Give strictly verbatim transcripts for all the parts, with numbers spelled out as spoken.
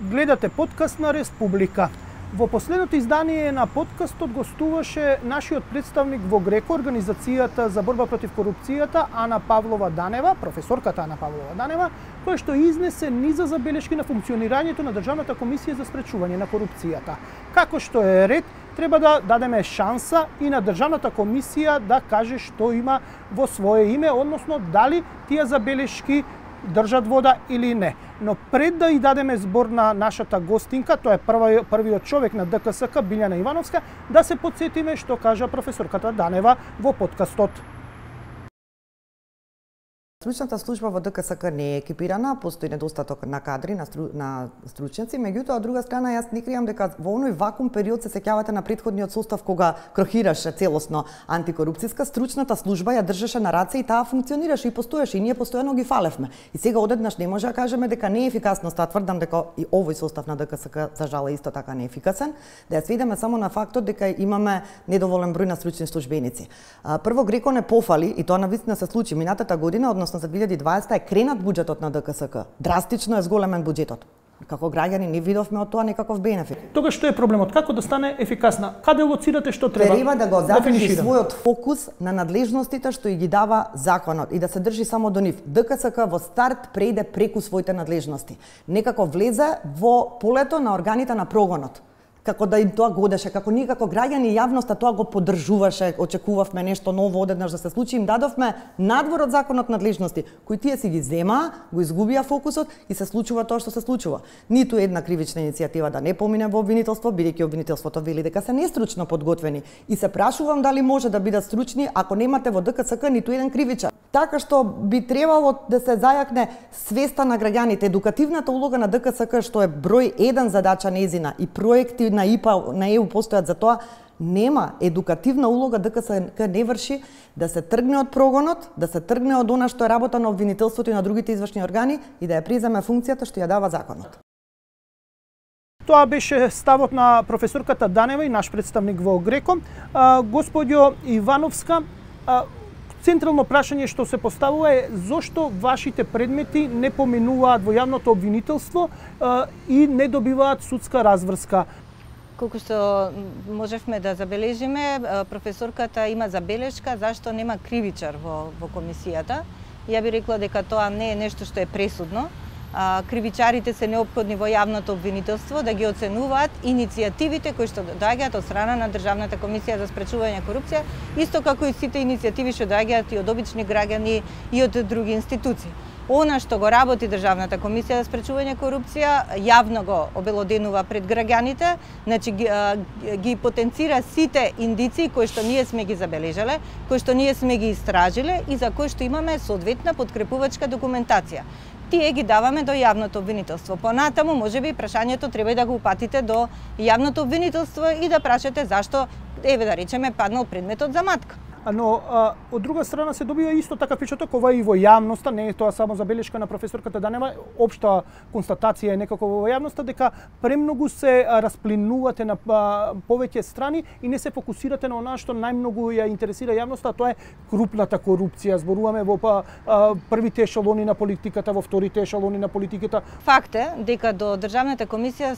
Гледате подкаст на Республика. Во последното издание на подкастот гостуваше нашиот представник во ГРЕКО, Организацијата за борба против корупцијата, Ана Павлова Данева, професорката Ана Павлова Данева, која што изнесе низа забелешки на функционирањето на Државната комисија за спречување на корупцијата. Како што е ред, треба да дадеме шанса и на Државната комисија да каже што има во свое име, односно дали тие забелешки држат вода или не. Но пред да и дадеме збор на нашата гостинка, тоа е прва, првиот човек на ДКСК, Билјана Ивановска, да се потсетиме што кажа професорката Данева во подкастот. Стручната служба во ДКСК не е екипирана, постои недостаток на кадри, на, стру, на стручњаци, меѓутоа, од друга страна, јас не кријам дека во оној вакуум период се сеќавате на претходниот состав кога крохираше целосно антикорупцијска, стручната служба ја држеше на раце и таа функционираше и постоеше и ние постојано ги фалевме. И сега одеднаш не може да кажеме дека не е ефикасно, стаа тврдам дека и овој состав на ДКСК за жал е исто така неефикасен, да ја сведеме само на фактот дека имаме недоволен број на стручни службеници. Прво, ГРЕКО не пофали и тоа навистина се случи минатата година, односно за две илјади и дваесета е кренат буџетот на ДКСК. Драстично е зголемен буџетот. Како граѓани не видовме од тоа некаков бенефит. Тогаш што е проблемот? Како да стане ефикасна? Каде лоцирате што треба? Треба да го задржи својот фокус на надлежностите што и ги дава законот и да се држи само до нив. ДКСК во старт преиде преку своите надлежности. Некако влезе во полето на органите на прогонот. Како да им тоа годеше, како ние како граѓани и јавноста тоа го поддржуваше, очекувавме нешто ново одеднаш да се случи, им дадовме надвор од законот надлежности, кои тие си ги земаа, го изгубија фокусот и се случува тоа што се случува. Ниту една кривична иницијатива да не помине во обвинителство, бидејќи обвинителството вели дека се нестручно подготвени. И се прашувам дали може да бидат стручни ако немате во ДКСК ниту еден кривичар. Така што би требало да се зајакне свеста на граѓаните, едукативната улога на ДКСК што е број еден задача нејзина и проекти на ИПА, на ЕУ постојат за тоа, нема едукативна улога ДКСК не врши да се тргне од прогонот, да се тргне од она што е работа на обвинителството и на другите извршни органи и да ја преземе функцијата што ја дава законот. Тоа беше ставот на професорката Данева и наш представник во ГРЕКО. Господјо Ивановска, централно прашање што се поставува е зошто вашите предмети не поминуваат во јавното обвинителство и не добиваат судска разврска. Колку што можевме да забележиме, професорката има забелешка зашто нема кривичар во, во комисијата. Ја би рекла дека тоа не е нешто што е пресудно. Кривичарите се неопходни во јавното обвинителство да ги оценуваат иницијативите кои што доаѓаат од страна на Државната комисија за спречување корупција, исто како и сите иницијативи што доаѓаат и од обични граѓани и од други институции. Она што го работи Државната комисија за спречување корупција, јавно го обелоденува пред граѓаните, значи ги, ги потенцира сите индиции кои што ние сме ги забележале, кои што ние сме ги истражиле и за кои што имаме соодветна подкрепувачка документација. Тие ги даваме до јавното обвинителство. Понатаму, можеби, прашањето треба и да го упатите до јавното обвинителство и да прашате зашто, еве да речеме, паднал предметот за матка. Но а, од друга страна се добива исто така впечаток, ова и во јавноста, не е тоа само забелешка на професорката Данева, општа констатација е некако во јавноста дека премногу се расплинувате на а, повеќе страни и не се фокусирате на она што најмногу ја интересира јавноста, а тоа е крупната корупција. Зборуваме во а, првите ешелони на политиката, во вторите ешелони на политиката. Факт е дека до Државната комисија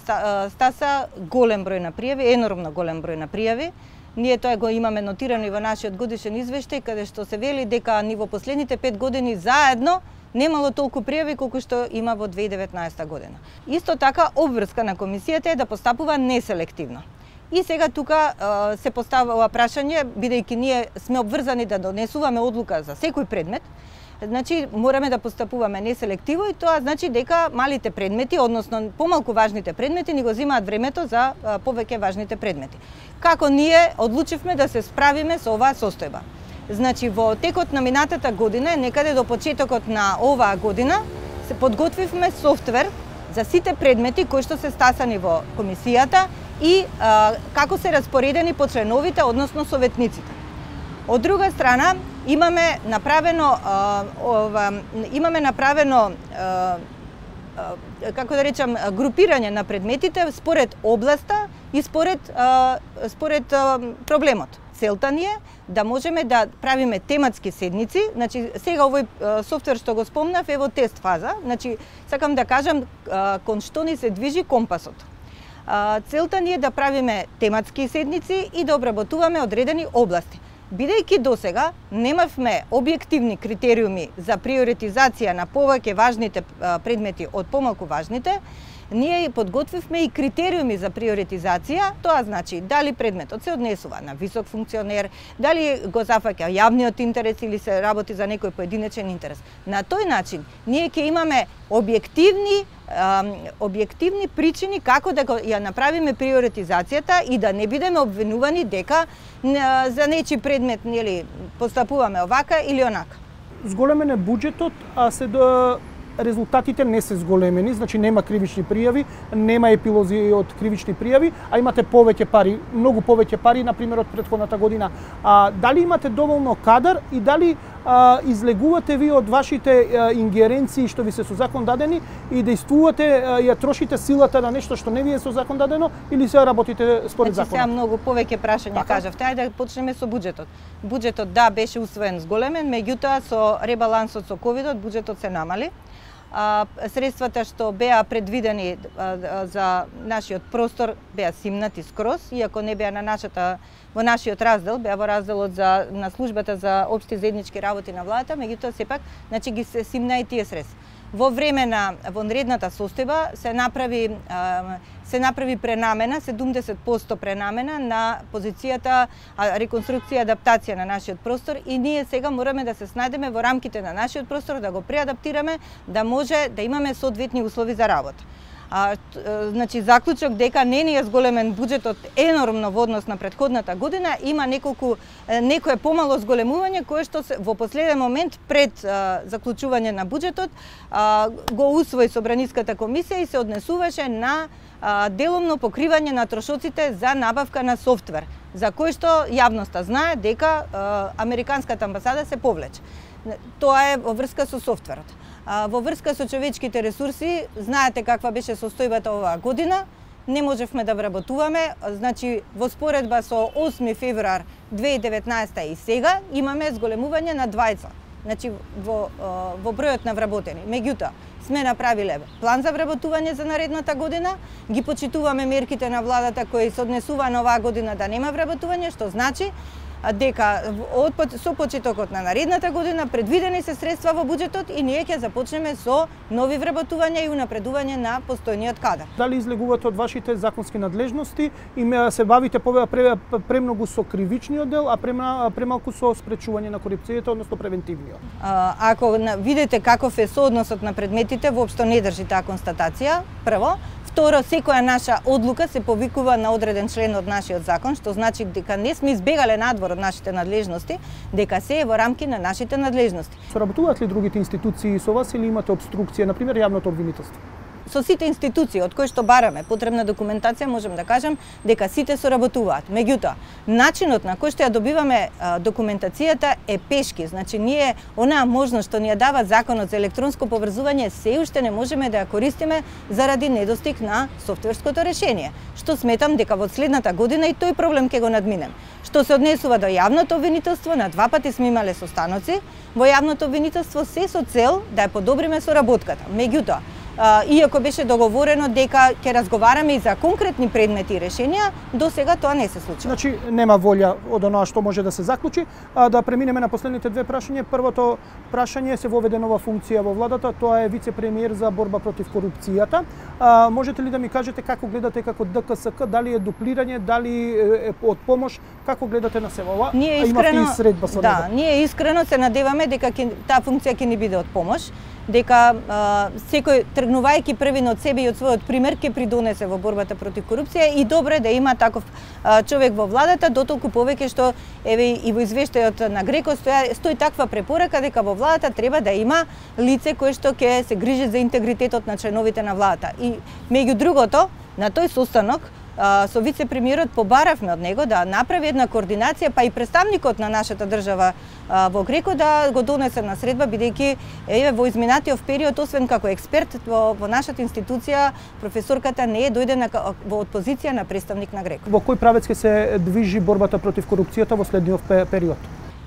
стаса голем број на пријави, енормно голем број на пријави. Ние тоа го имаме нотирано и во нашиот годишен извештај, каде што се вели дека ни во последните пет години заедно немало толку пријави колку што има во две илјади и деветнаесета година. Исто така, обврска на комисијата е да постапува неселективно. И сега тука се поставува прашање, бидејќи ние сме обврзани да донесуваме одлука за секој предмет, значи мораме да постапуваме неселективно и тоа значи дека малите предмети, односно помалку важните предмети, ни го земаат времето за повеќе важните предмети. Како ние одлучивме да се справиме со оваа состојба? Значи во текот на минатата година, некаде до почетокот на оваа година, се подготвивме софтвер за сите предмети кои што се стасани во комисијата и а, како се распоредени по членовите, односно советниците. Од друга страна, имаме направено а, ова, имаме направено а, а, како да речам групирање на предметите според областа и според а, според а, проблемот. целта ни е да можеме да правиме тематски седници. Значи сега овој софтвер што го спомнав е во тест фаза. Значи сакам да кажам кон што ни се движи компасот. Целта ни е да правиме тематски седници и да обработуваме одредени области. Бидејќи досега немавме објективни критериуми за приоритизација на повеќе важните предмети од помалку важните, ние подготвивме и критериуми за приоритизација. Тоа значи дали предметот се однесува на висок функционер, дали го зафаќа јавниот интерес или се работи за некој поединечен интерес. На тој начин ние ќе имаме објективни објективни причини како да ја направиме приоритизацијата и да не бидеме обвинувани дека за нечи предмет нели постапуваме овака или онака. Зголемен е буџетот, а се да резултатите не се зголемени, значи нема кривични пријави, нема епилози од кривични пријави, а имате повеќе пари, многу повеќе пари, на пример од претходната година. А, дали имате доволно кадар и дали а, излегувате ви од вашите а, ингеренции што ви се со закон дадени и действувате, а, ја трошите силата на нешто што не ви е со закон дадено или се работите според значи, законот? Сега многу повеќе прашања кажавте. Ајде да почнеме со буџетот. Буџетот да беше усвоен зголемен, меѓутоа со ребалансот со ковидот буџетот се намали. А, средствата што беа предвидени а, за нашиот простор беа симнати скроз, иако не беа на нашата во нашиот раздел, беа во разделот за на службата за општи заеднички работи на владата, меѓутоа сепак значи ги се симна и тие средства. Во време на вонредната состојба се направи а, се направи пренамена, седумдесет проценти пренамена на позицијата реконструкција и адаптација на нашиот простор и ние сега мораме да се снајдеме во рамките на нашиот простор, да го преадаптираме, да може да имаме соодветни услови за работа. А, значи заклучок дека не ни е зголемен буџетот енормно во однос на претходната година, има неколку некое помало зголемување кое што се, во последен момент пред а, заклучување на буџетот а, го усвои Собраниската комисија и се однесуваше на а, деломно покривање на трошоците за набавка на софтвер, за кој што јавноста знае дека а, Американската амбасада се повлече. Тоа е во врска со софтверот. Во врска со човечките ресурси, знаете каква беше состојбата оваа година, не можевме да вработуваме, значи во споредба со осми февруар две илјади и деветнаесета и сега имаме зголемување на двајца, значи во, во бројот на вработени. Меѓутоа, сме направиле план за вработување за наредната година, ги почитуваме мерките на владата кои се однесува на оваа година да нема вработување, што значи дека од со почетокот на наредната година предвидени се средства во буџетот и ние ќе започнеме со нови вработувања и унапредување на постојниот кадар. Дали излегувате од вашите законски надлежности и се бавите премногу со кривичниот дел, а премалку со спречување на корупцијата, односно превентивниот? Ако видите каков е соодносот на предметите, воопшто не држи таа констатација, прво. Второ, секоја наша одлука се повикува на одреден член од нашиот закон, што значи дека не сме избегале надвор од нашите надлежности, дека се е во рамки на нашите надлежности. Соработуваат ли другите институции со вас или имате обструкција, на пример јавното обвинителство? Со сите институции од кои што бараме потребна документација, можем да кажем дека сите соработуваат. Меѓутоа, начинот на кој што ја добиваме а, документацијата е пешки. Значи, ние онаа можност што ни ја дава Законот за електронско поврзување се уште не можеме да ја користиме заради недостиг на софтверското решение. Што сметам дека во следната година и тој проблем ќе го надминем. Што се однесува до јавното обвинителство, на два пати сме имале состаноци во јавното обвинителство се со цел да ја подобриме соработката. Меѓутоа, иако беше договорено дека ќе разговараме и за конкретни предмети и решенија, до сега тоа не се случи. Значи нема волја од оноа што може да се заклучи. А да преминеме на последните две прашања. Првото прашање се воведе нова функција во владата, тоа е вице-премиер за борба против корупцијата. А, можете ли да ми кажете како гледате како ДКСК, дали е дуплирање, дали е од помош, како гледате на себе ова? Ние искрено, и средба со да, ние искрено се надеваме дека таа функција ќе ни биде од помош, дека а, секој тргнувајќи првин од себе и од својот пример ќе придонесе во борбата против корупција и добро е да има таков а, човек во владата, дотолку повеќе што еве и во извештајот на Греко стои, стои таква препорака дека во владата треба да има лице кое што ќе се грижи за интегритетот на членовите на владата. И меѓу другото, на тој состанок со вице-премиерот побаравме од него да направи една координација, па и представникот на нашата држава во Греко да го донесе на средба, бидејќи еве во изминатиот период, освен како експерт во, во нашата институција, професорката не е дојдена во позиција на представник на Греко. Во кој правец ќе се движи борбата против корупцијата во следниот период?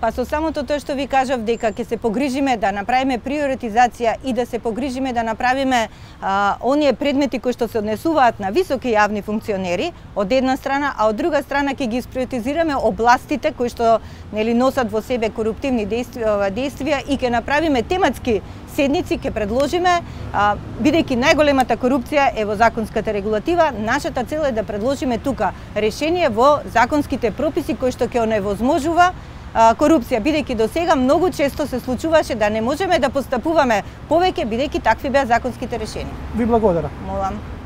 Па со самото тоа што ви кажав дека ќе се погрижиме да направиме приоритизација и да се погрижиме да направиме а, оние предмети кои што се однесуваат на високи јавни функционери од една страна, а од друга страна ќе ги приоритизираме областите кои што нели носат во себе коруптивни действија, действија и ќе направиме тематски седници, ќе предложиме, а, бидејќи најголемата корупција е во законската регулатива, нашата цел е да предложиме тука решение во законските прописи кои што ќе оневозможува корупција, бидејќи до сега многу често се случуваше да не можеме да постапуваме повеќе, бидејќи такви беа законските решенија. Ви благодарам. Молам.